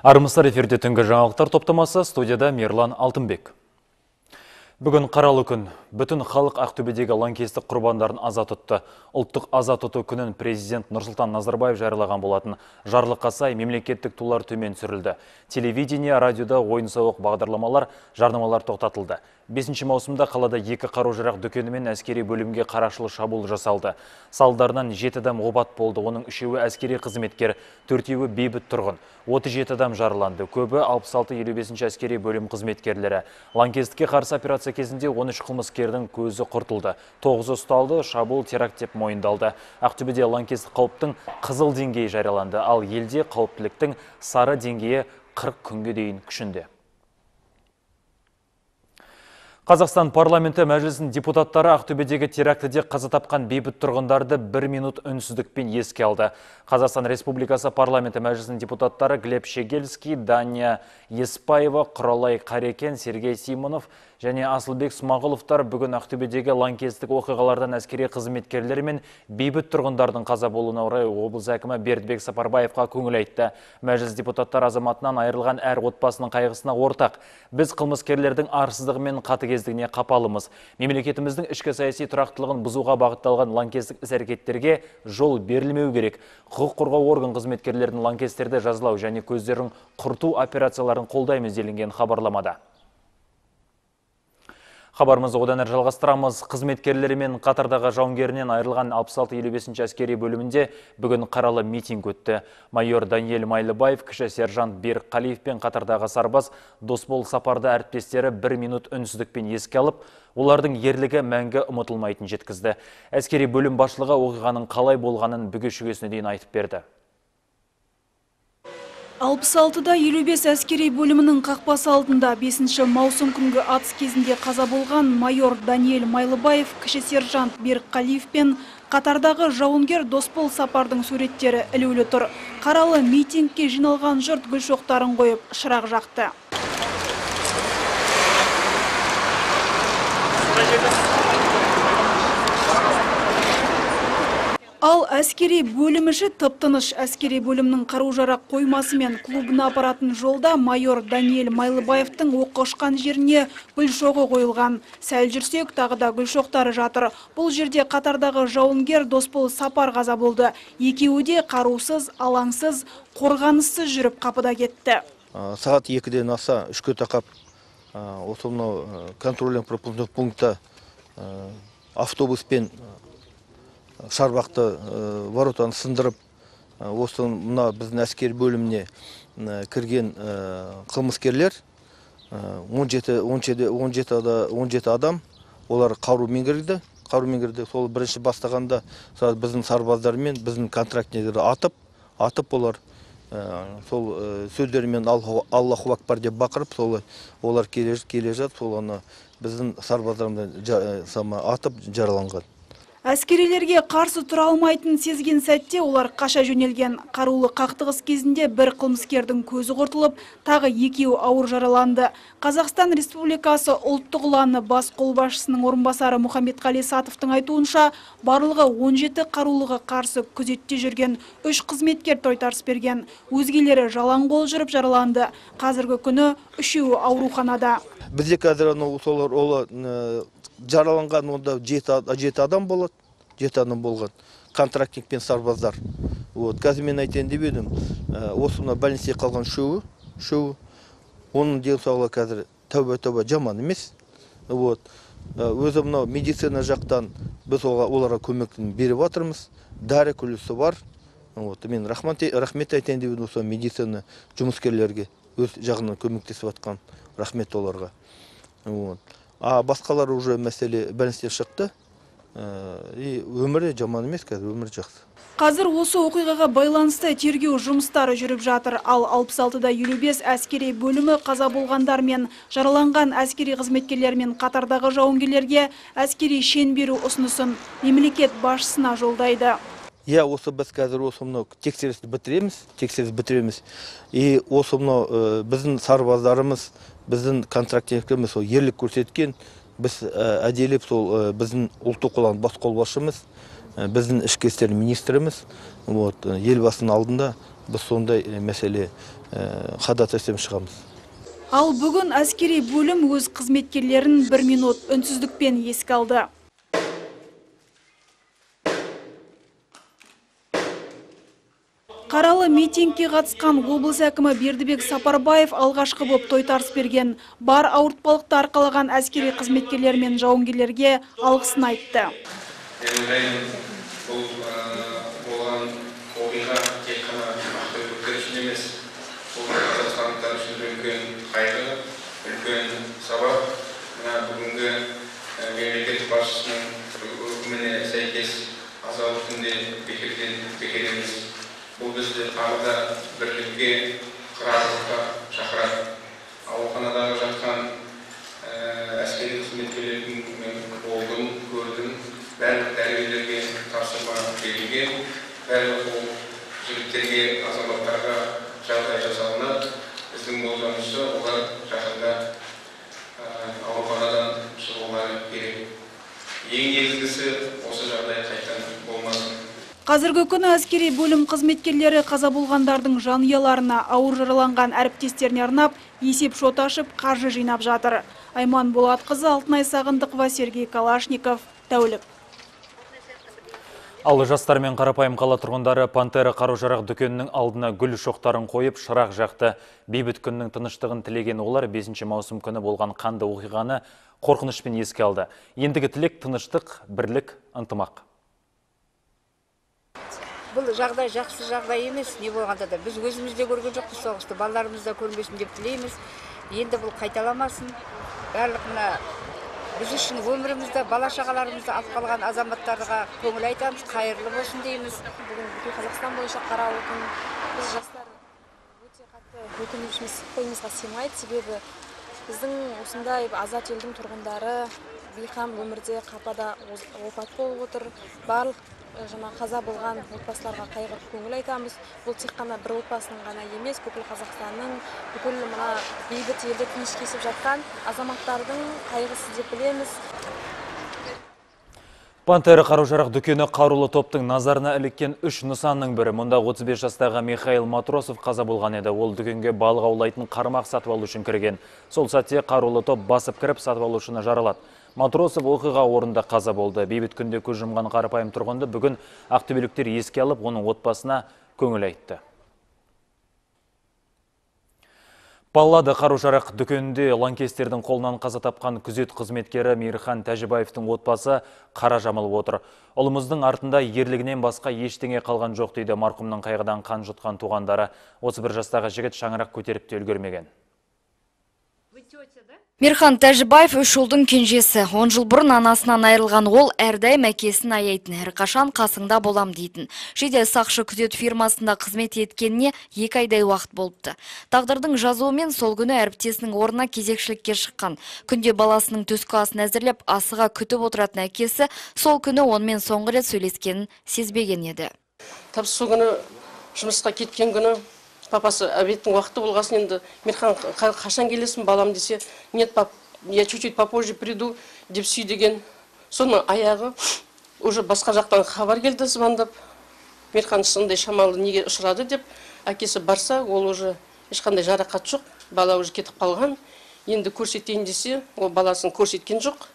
Армысыздар, эфирде түнгі жаңалықтар топтамасы, студияда Мерлан Алтынбек. Бүгін қаралы күн. Бүтін халық Ақтөбедегі лаңкестік құрбандарын аза тұтты. Ұлттық аза тұту күнін президент Нұрсұлтан Назарбаев жариялаған болатын. Жарлыққа сай мемлекеттік тулар төмен түсірілді. Телевидение, радиода ойын-сауық бағдарламалар, жарнамалар тоқтатылды. 5 маусымда қалада 2 қару-жарақ дүкені мен әскери бөлімге қарақшылық шабуыл жасалды. Салдарынан 7 адам опат болды. Оның 3-еуі әскери қызметкер, 4-еуі бейбіт тұрғын. 37 адам жараланды. Көбі 66-55 әскери бөлім қызметкерлері. Лаңкестікке қарсы операция кезінде 13 қылмыскердің көзі құртылды. 9 ұсталды, шабуыл теракт деп мойындалды. Ақтөбеде лаңкестік қауіптің қызыл деңгейі жарияланды, ал елде қауіптіліктің сары деңгейі 40 күнге дейін күшінде. Қазақстан парламенті мәжілісінің депутаттары Ақтөбедегі терактіде қаза тапқан бейбіт тұрғындарды 1 минут үнсіздікпен еске алды. Қазақстан Республикасы парламенті мәжілісінің депутаттары Глеб Щегельский, Дания Еспаева, Құралай Қарекен, Сергей Симонов және Асылбек Смағұловтар бүгін Ақтөбедегі лаңкестік оқиғалардан әскери қызметкерлер мен бейбіт тұрғындардың қаза болуына орай облыс әкімі Бердібек Сапарбаевқа көңіл айтты. Мәжіліс депутаттар азаматынан айырылған әр отбасының қайғысына ортақ. Біз қылмыскерлердің арсыздығы мен қатыгездігіне қапалымыз. Мемлекетіміздің ішкі саяси тұрақтылығын бұзуға бағытталған лаңкестік іс-әрекеттерге жол берілмеу керек. Құқық қорғау орган қызметкерлерінің лаңкестерді жазалау және көздерін құрту операцияларын қолдаймыз делінген хабарламада. Хабарымызды одан әрі жалғастырамыз. Қызметкерлері мен қатардағы жауынгерінен айырылған 66-55 әскери бөлімінде бүгін қаралы митинг өтті. Майор Даниэль Майлыбаев, кіші сержант Берік Қалиев пен қатардағы сарбаз Досбол Сапарды әріптестері 1 минут үнсіздікпен еске алып, олардың ерлігі мәңгі ұмытылмайтын жеткізді. Әскери бөлім басшылығы оқиғаның қалай болғанын бүге-шүгесіне дейін айтып берді. 66-да 55 әскери бөлімінің қақпасы алдында 5 маусым күнгі атыс кезінде қаза болған майор Даниэль Майлыбаев, кіші сержант Берік Қалиев пен қатардағы жауынгер Досбол Сапардың суреттері ілулі тұр. Қаралы митингке жиналған жұрт гүл шоқтарын қойып шырақ жақты. Ал әскери бөліміші тып-тыныш. Әскери бөлімнің қару-жарақ қоймасы мен клубына апаратын жолда майор Даниэль Майлыбаевтың оққа ұшқан жеріне гүл шоғы қойылған. Сәл жүрсек, тағы да гүл шоқтары жатыр. Бұл жерде қатардағы жауынгер Досбол Сапар қаза болды. Екеуі де қарусыз, алаңсыз, қорғаныссыз жүріп қапыда кетті. Сағат 2-ден аса үшке тақап осы контрольно-пропускной пунктта автобуспен шарбақты воротаны сындырып, осы мына біздің әскери бөліміне кірген қылмыскерлер 17 адам, олар қарумен кірді. Сол бірінші бастағанда біздің сарбаздармен біздің контрактнерлерді атып олар сол сөздерімен Аллаху акбар деп бақырып, олар келе жатып, сол біздің сарбаздармен атып жараланған. Әскерилерге қарсы тұра алмайтын сезген сәтте олар қаша жөнелген. Қарулы қақтығыс кезінде бір қылмыскердің көзі құртылып, тағы екеуі ауыр жараланды. Қазақстан Республикасы ұлттық ұланы бас қолбасшысының орынбасары Мұхаммедқали Сатовтың айтуынша, барлығы 17 қарулыға қарсы күзетте жүрген 3 қызметкер тойтарыс берген. Өзгелері жалаң қол жүріп жараланды. Қазіргі күні 3-еуі ауруханада. Бізде қазір жараланған онда 7 адам болады, 7 адам болған, контрактник пен сарбаздар. Қазір мен айтайын деп едім, осы больницеде қалған үшеуі, оның денсаулығы қазір тәуба жаман емес. Өзі мынау медицина жақтан біз оларға көмектің беріп жатырмыз, дәрі күлісі бар. Мен рахмет айтайын деп едім, осы медицина жұмыскерлерге өз жағынан көмектесіп жатқан рахмет оларға. Басқалар уже мәселе бәліністен шықты. Өмірі жаман емес, қазір өмірі жақсы. Қазір осы оқиғаға байланысты тергеу жұмыстары жүріп жатыр. Ал 66-да 55 әскери бөлімі қаза болғандар мен жараланған әскери қызметкерлер мен қатардағы жауынгерлерге әскери шен беру ұсынысын мемлекет басшысына жолдайды. Осы біз қазір осы тексерісті бітіреміз. И осы біздің сарбаздарымыз, біздің контрактниктеріміз ерлік көрсеткен, біз әделеп біздің ұлттық ұлан бас қолбасшымыз, біздің ішкі істер министріміз елбасының алдында біз сондай мәселе ходатайством шығамыз. Ал бүгін әскери бөлім өз қызметкерлерін 1 минут үнсіздікпен еске алды. Қаралы митингке қатысқан облыс әкімі Бердібек Сапарбаев алғашқы боп тойтарыс берген. Бар ауыртпалықты арқалаған әскери қызметкерлер мен жауынгерлерге алғысын айтты. Мен ойлаймын, бұл болған оқиға тек қана ақтөбеліктер үшін емес, бұл қазақстандықтар үшін үлкен қайғы, үлкен сабақ. Мына бүгінгі мемлекет басшысының өкіміне сәйкес азалы күнде бекер емес. Бұл бізді тағы да бірлікке, қырағылыққа шақырады. Ауруханадағы жатқан әскери қызметкерлердің болдым, көрдім. Барлық дәрігерлерге тапсырма берілген, барлық ол жігіттерге, азаматтарға жағдай жасалынады. Біздің болжамымызша олар жақында ауруханадан шығулары керек. Ең негізгісі осы жағдай қайтадан болмасын. Қазіргі күні әскери бөлім қызметкерлері қаза болғандардың жанұяларына, ауыр жараланған әріптестеріне арнап, есеп шот ашып, қаржы жинап жатыр. Айман Болатқызы, Алтынай Сағындықова, Сергей Калашников, Тәулік. Ал жастар мен қарапайым қала тұрғындары Пантера қару-жарақ дүкенінің алдына гүл шоқтарын қойып, шырақ жақты. Бейбіт күннің тыныштығын тілеген олар 5 маусым күні болған қанды оқиғаны қорқынышпен еске алды. Ендігі тілек тыныштық, бірлік, ынтымақ. Бұл жағдай жақсы жағдай емес, не болғанда да біз өзімізде көрген жоқпыз соғысты, балаларымызда көрмесін деп тілейміз. Енді бұл қайталамасын. Барлығына біз үшін өмірімізді, бала-шағаларымызды алып қалған азаматтарға көңіл айтамыз, қайырлы болсын дейміз. Бүгін бүкіл Қазақстан бойынша қаралы күн. Біз жастар өте қатты өкінішіміз қойымызға сыймайды, себебі біздің осындай азат елдің тұрғындары бейқам өмірде қапада опат болып отыр. Барлық қаза болған отбасыларға қайғырып көңіл айтамыз. Бұл тек қана бір отбасының ғана емес, бүкіл Қазақстанның, бүкіл мына бейбіт елде тыныш кесіп жатқан азаматтардың қайғысы деп білеміз. Пантера қару-жарақ дүкені қарулы топтың назарына іліккен 3 нысанның бірі. Мұнда 35 жастағы Михаил Матросов қаза болған еді. Ол дүкенге балық аулайтын қармақ сатып алу үшін кірген. Сол сәтте қарулы топ басып кіріп сатып алушыны жаралады. Матросов оқиға орнында қаза болды. Бейбіт күнде көз жұмған қарапайым тұрғынды бүгін ақтөбеліктер еске алып, оның отбасына көңіл айтты. Паллада қару-жарақ дүкенінде лаңкестердің қолынан қаза тапқан күзет қызметкері Мейірхан Тәжібаевтың отбасы қара жамылып отыр. Ұлымыздың артында ерлігінен басқа ештеңе қалған жоқ дейді марқұмның қайғыдан қан жұтқан туғандары. 31 жастағы жігіт шаңырақ көтеріп те үлгермеген. Мейірхан Тәжібаев 3 ұлдың кенжесі. 10 жыл бұрын анасынан айырылған ол әрдайым әкесін аяйтын, әрқашан қасыңда болам дейтін. Жедел сақшы күзет фирмасында қызмет еткеніне 2 айдай уақыт болыпты. Тағдырдың жазуымен сол күні әріптесінің орнына кезекшілікке шыққан. Күнде баласының түскі асын әзірлеп, асыға күтіп отыратын әкесі сол күні онымен соңғы рет сөйлескенін сезбеген еді. Тапсы сол күні жұмысқа кеткен күні папасы обедтің уақыты болғасын, енді Мейірхан қашан келесің балам десе, нет, пап, я чуть-чуть попозже приду деп сүй деген. Соның аяғы уже басқа жақтан хабар келді звондап. Мейірхан сондай шамалы неге ұшырады деп, әкесі барса, ол уже ешқандай жарақат жоқ, бала уже кетіп қалған. Енді көрсетейін десе, ол баласын көрсеткен жоқ.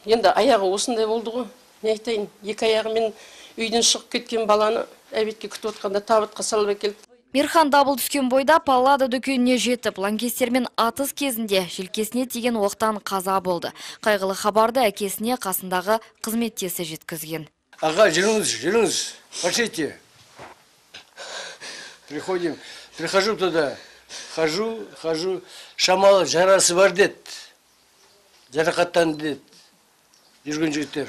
Енді аяғы осындай болды ғой. Не айтайын, 2 аяғымен үйден шығып кеткен баланы әбетке күтіп отқанда табытқа салып әкелді. Мейірхан дабыл түскен бойда Паллада дүкеніне жетіп, лаңкестермен атыс кезінде желкесіне тиген оқтан қаза болды. Қайғылы хабарды әкесіне қасындағы қызметтесі жеткізген. Аға, жүріңіз, пошлите. Прихожу туда, хожу, шамалы жарасы бар дед, жарақаттан дед, жүрген жігіттер.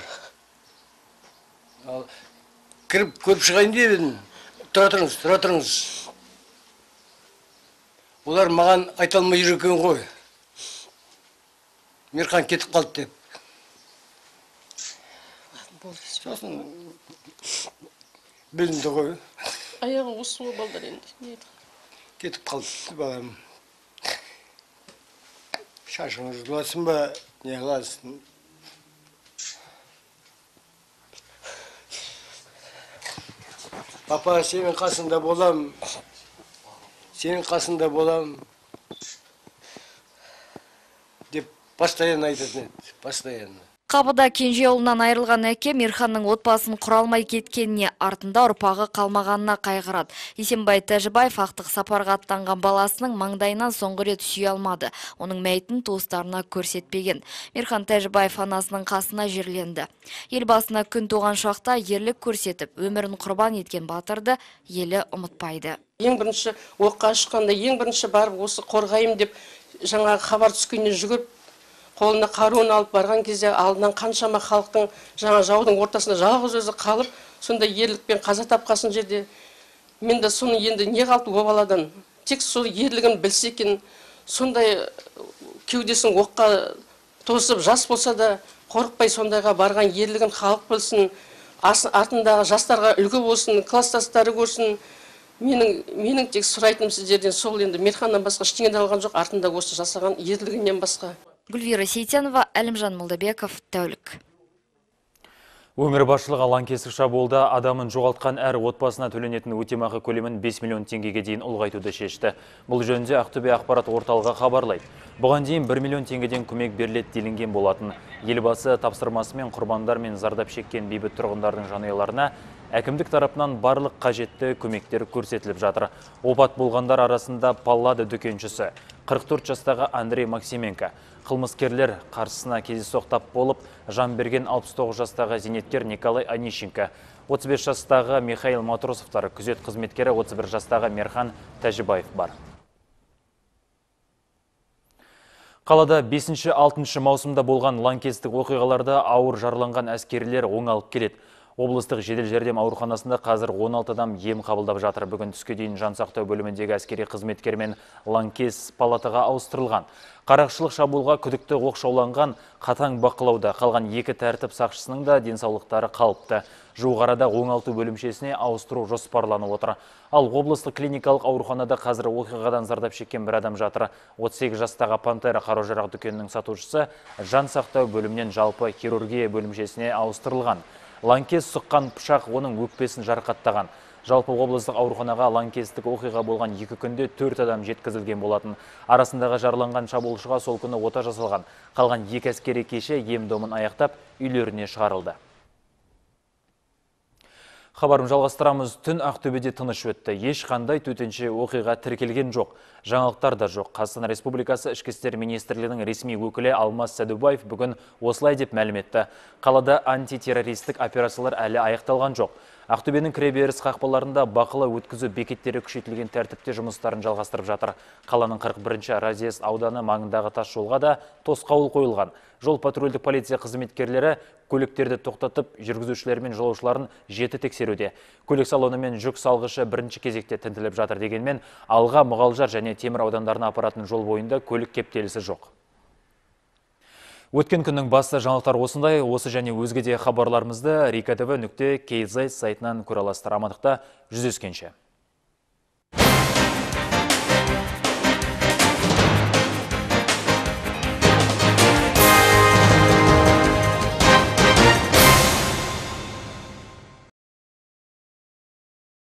Кіріп көріп шығайын деп едім, тұра тұрыңыз. Олар маған айта алмай жүр екен ғой. Мейірхан кетіп қалды деп. Сосын білінді ғой. Аяғы осы ғой балдар енді. Кетіп қалды балам. Шашыңыз жұласын ба, не қыласың? Папа, сенің қасында болам. сенің қасында болам деп постоянно айтатын еді, постоянно. Қабыда кенже ұлынан айырылған әке Мирханның отбасын құралмай кеткеніне, артында ұрпағы қалмағанына қайғырады. Есенбай Тәжібаев ақтық сапарға аттанған баласының маңдайынан соңғы рет сүйе алмады. Оның мәйітін туыстарына көрсетпеген. Мирхан Тәжібаев анасының қасына жерленді. Елбасына күн туған шақта ерлік көрсетіп, өмірін құрбан еткен батырды елі ұмытпайды. Ең бірінші оққа шыққанда, ең бірінші барып осы қорғайым деп жаңағы хабар түскеннен жүгіріп, қолына қаруын алып барған кезде алдынан қаншама халықтың жаңа жаудың ортасында жалғыз өзі қалып, сондай ерлікпен қаза тапқасын жерде. Мен де соны енді не қалды о баладан? Тек сол ерлігін білсе екен, сондай кеудесін оққа тосып, жас болса да қорықпай сондайға барған ерлігін халық білсін, артындағы жастарға үлгі болсын, класстастары көрсін. Менің тек сұрайтыным сіздерден сол, енді Мирханнан басқа ештеңе алған жоқ, артында осы жасаған ерлігінен басқа. Гүлвира Сейтенова, Әлімжан Молдабеков, тәулік. Өңір басшылығы лаңкестік шабуылда адамын жоғалтқан әр отбасына төленетін өтемақы көлемін 5 миллион теңгеге дейін ұлғайтуды шешті. Бұл жөнінде Ақтөбе ақпарат орталығы хабарлайды. Бұған дейін 1 миллион теңгеден көмек беріледі делінген болатын. Елбасы тапсырмасымен құрбандар мен зардап шеккен бейбіт тұрғындардың жанұяларына әкімдік тарапынан барлық қажетті көмектер көрсетіліп жатыр. Опат болғандар арасында Паллада дүкеншісі 44 жастағы Андрей Максименко, қылмыскерлер қарсысына кездейсоқ болып, жан берген 69 жастағы зейнеткер Николай Онищенко, 35 жастағы Михаил Матросовтар, күзет қызметкері 31 жастағы Мирхан Тәжібаев бар. Қалада 5-6 маусымда болған лаңкестік оқиғаларда ауыр жараланған әскерилер оңалып келеді. Облыстық жедел жәрдем ауруханасында қазір 16 адам ем қабылдап жатыр. Бүгін түске дейін жансақтау бөліміндегі әскери қызметкермен лаңкес палатаға ауыстырылған. Қарақшылық шабуылға күдікті оқшауланған, қатаң бақылауда қалған 2 тәртіп сақшысының да денсаулықтары қалыпты. Жуық арада оңалту бөлімшесіне ауыстыру жоспарланып отыр. Ал облыстық клиникалық ауруханада қазір оқиғадан зардап шеккен бір адам жатыр. 38 жастағы Пантера қару-жарақ дүкенінің сатушысы жансақтау бөлімінен жалпы хирургия бөлімшесіне ауыстырылған. Лаңкес сұққан пышақ оның өкпесін жарақаттаған. Жалпы облыстық ауруханаға лаңкестік оқиға болған 2 күнде 4 адам жеткізілген болатын. Арасындағы жарланған шабуылшыға сол күні ота жасалған. Қалған 2 әскери кеше ем-домын аяқтап үйлеріне шығарылды. Хабарым жалғастырамыз. Түн Ақтөбеде тыныш өтті. Ешқандай төтенше оқиға тіркелген жоқ. Жаңалықтар да жоқ. Қазақстан Республикасы Ішкі істер министрлігінің ресми өкілі Алмас Сәдубаев бүгін осылай деп мәлім етті. Қалада антитеррористік операциялар әлі аяқталған жоқ. Ақтөбенің кіреберіс қақпаларында бақылау өткізу бекеттері күшейтілген тәртіпте жұмыстарын жалғастырып жатыр. Қаланың 41-ші разъезд ауданы маңындағы тас жолға да тосқауыл қойылған. Жол патрульдік полиция қызметкерлері көліктерді тоқтатып, жүргізушілер мен жолаушыларын жіті тексеруде. Көлік салоны мен жүк салғышы бірінші кезекте тінтіліп жатыр дегенмен, Алға, Мұғалжар және Темір аудандарына апаратын жол бойында көлік кептелісі жоқ. Өткен күннің басты жаңалықтар осындай. Осы және өзге де хабарларымызды rikatv.kz сайтынан көре аласыздар. Амандықта жүздескенше.